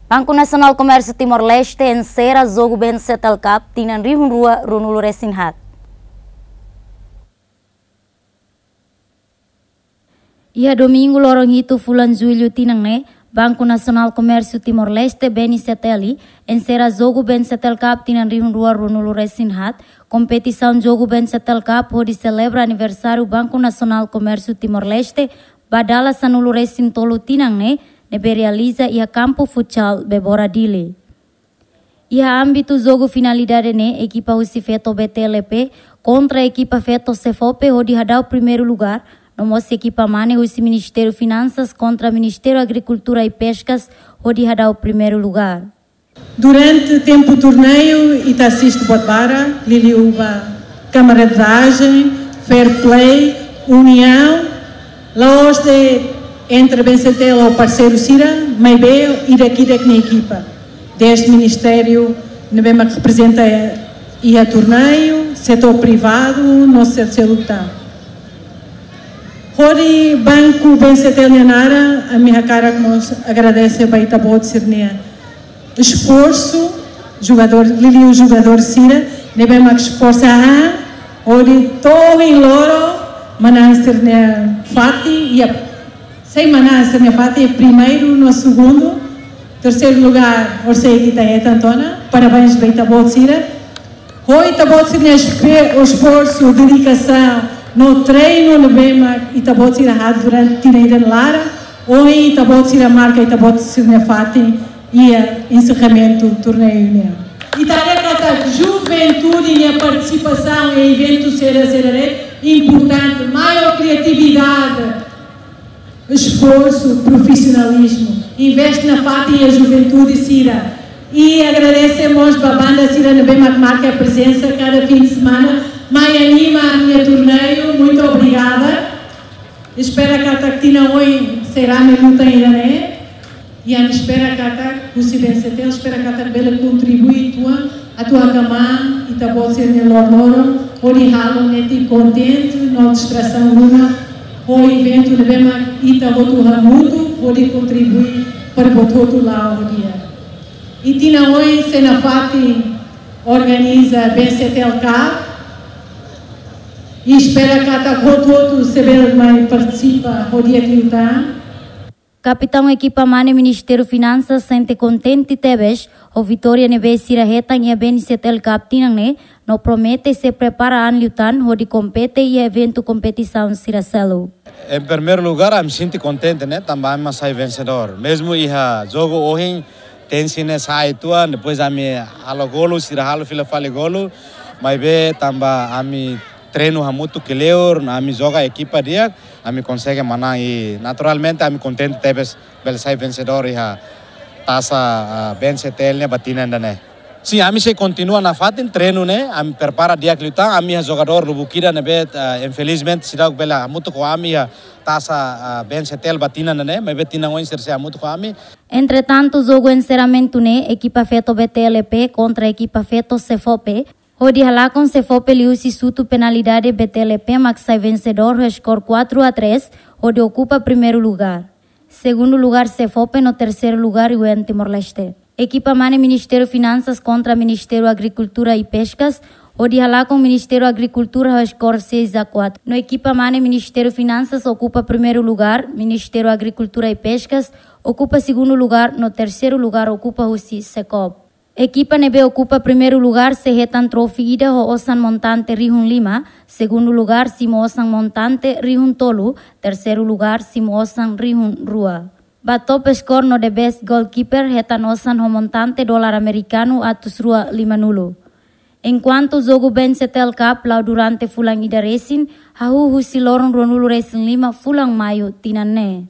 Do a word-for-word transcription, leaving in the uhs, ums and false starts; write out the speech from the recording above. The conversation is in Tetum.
Banku Nasionál Komérsiu Timor-Leste ensera jogu BNCTL Cup tinan rihun rua ruanulu resin haat. Iha domingu loron hitu fulan jullu tinan ne'e, Banku Nasionál Komérsiu Timor-Leste, BNCTL, ensera jogu BNCTL Cup tinan rihun rua ruanulu resin haat, kompetisaun jogu BNCTL Cup hodi selebra aniversáriu Banku Nasionál Komérsiu Timor-Leste ba dala sanulu resin tolu tinan ne'e, ne'ebé realiza iha kampu futsal Bebora Dili. Iha ámbitu jogu finalidade ne'e, ekipa husi feto BTLP kontra ekipa feto SEFOPE hodi hadau primeiru lugar, no mós ekipa mane husi Ministériu Finansas kontra Ministériu Agrikultura i Peskas hodi hadau primeiru lugar. Durante tempu torneiu, ita asiste buat barak, liuliu ba camaradagem, fair play, uniaun, la'ós de'it entre BNCTL ho parseiru sira, maibé ida-idak nia ekipa. Desde ministériu ne'ebé mak reprezenta iha torneiu, setór privadu, no setór seluk tan. Hodi Banku BNCTL nia naran, ami hakarak mós agradese ba ita-boot sira-nia esforsu, jogadór, liuliu jogadór sira, ne'ebé mak esforsa an, hodi to'o ohin loron, manán sira-nia fatin, iha, sei manán sira-nia fatin, primeiru no segundu, terseiru lugar, horisehik ita hetan tiha ona, parabéns ba ita-boot sira. Ho ita-boot sira-nia espe-, esforsu, dedikasaun, no treinu ne'ebé mak ita-boot sira halo durante tinan ida nia laran, ohin ita-boot sira marka ita-boot sira-nia fatin iha enserramentu torneiu ne'e. Ita haree katak juventude nia partisipasaun iha eventu sira-sira ne'e importante, maior kriatividade, esforsu, profisionalizmu, investe nafatin iha juventude sira. I agradese mós ba banda sira ne'ebé mak marka prezensa kada fin de semana, mai anima ami-nia torneiu. Muito obrigada. Espera katak tinan oin sei rame luta ida-ne'e. I ami espera katak, husi BNCTL, espera katak bele kontribui uitoan atu hakmaan ita-boot sira-nia loron-loron, hodi halo netik kontente, no distrasaun ruma, ho eventu ne'ebé mak ita hotu hamutuk, hodi kontribui para buat hotu la'o di'ak. I tinan oin sei nafatin organiza BNCTL Cup, i espera katak hotu-hotu sei bele mai partisipa ho di'ak liután. Kapitaun ekipa mane Ministériu Finansas sente kontente tebes ho vitória ne'ebé sira hetan iha BNCTL Cup tinan ne'e, no promete sei prepara an liután hodi kompete iha eventu kompetisaun sira seluk. Em primeiro lugar, ami sente kontente, ne'e, tanba ami mak sai vensedór. Mezmu iha jogu ohin, tensi ne'e sai tuan, depois ami halo golu, sira halo fila fali golu, maibé tanba ami treinu hamutuk kleur, ami joga ekipa di'ak, ami konsege manán i naturalmente ami kontente tebes bele sai vensedór iha taça, ah, BNCTL ne'e ba tinan ida-ne'e. Sin, ami sei kontinua nafatin treinu ne'e, ami prepara di'ak liután, ami iha jogadór lubuk ida ne'ebé, ah, infelizmente seidauk bele hamutuk ho ami iha taça, ah, BNCTL ba tinan ida-ne'e, maibé tinan oin sira sei hamutuk ho ami. Entretantu, jogu enserramentu ne'e, ekipa feto BTLP kontra ekipa feto SEFOPE, hodi halakon SEFOPE liuhusi xutu penalidade, BTLP mak sai vensedór ho skor quatro a três, hodi okupa primeiru lugar. Segundu lugar SEFOPE no terseiru lugar U N Timor-Leste. Ekipa mane Ministériu Finansas kontra Ministériu Agrikultura i Peskas, hodi halakon Ministériu Agrikultura ho skor seis a quatro. No ekipa mane Ministériu Finansas okupa primeiru lugar, Ministériu Agrikultura i Peskas okupa segundu lugar, no terseiru lugar okupa husi SECOP. Ekipa ne'ebé okupa primeiru lugar sei hetan trofi ida ho osan montante rihun lima, segundu lugar simu osan montante rihun tolu, terseiru lugar simu osan rihun rua. Ba top skor no the best goalkeeper hetan osan ho montante dolar amerikanu atus rua limanulu. Enkuantu jogu BNCTL Cup la'o durante fulan ida resin, hahú husi loron ruanulu resin lima fulan Maiu tinan ne'e.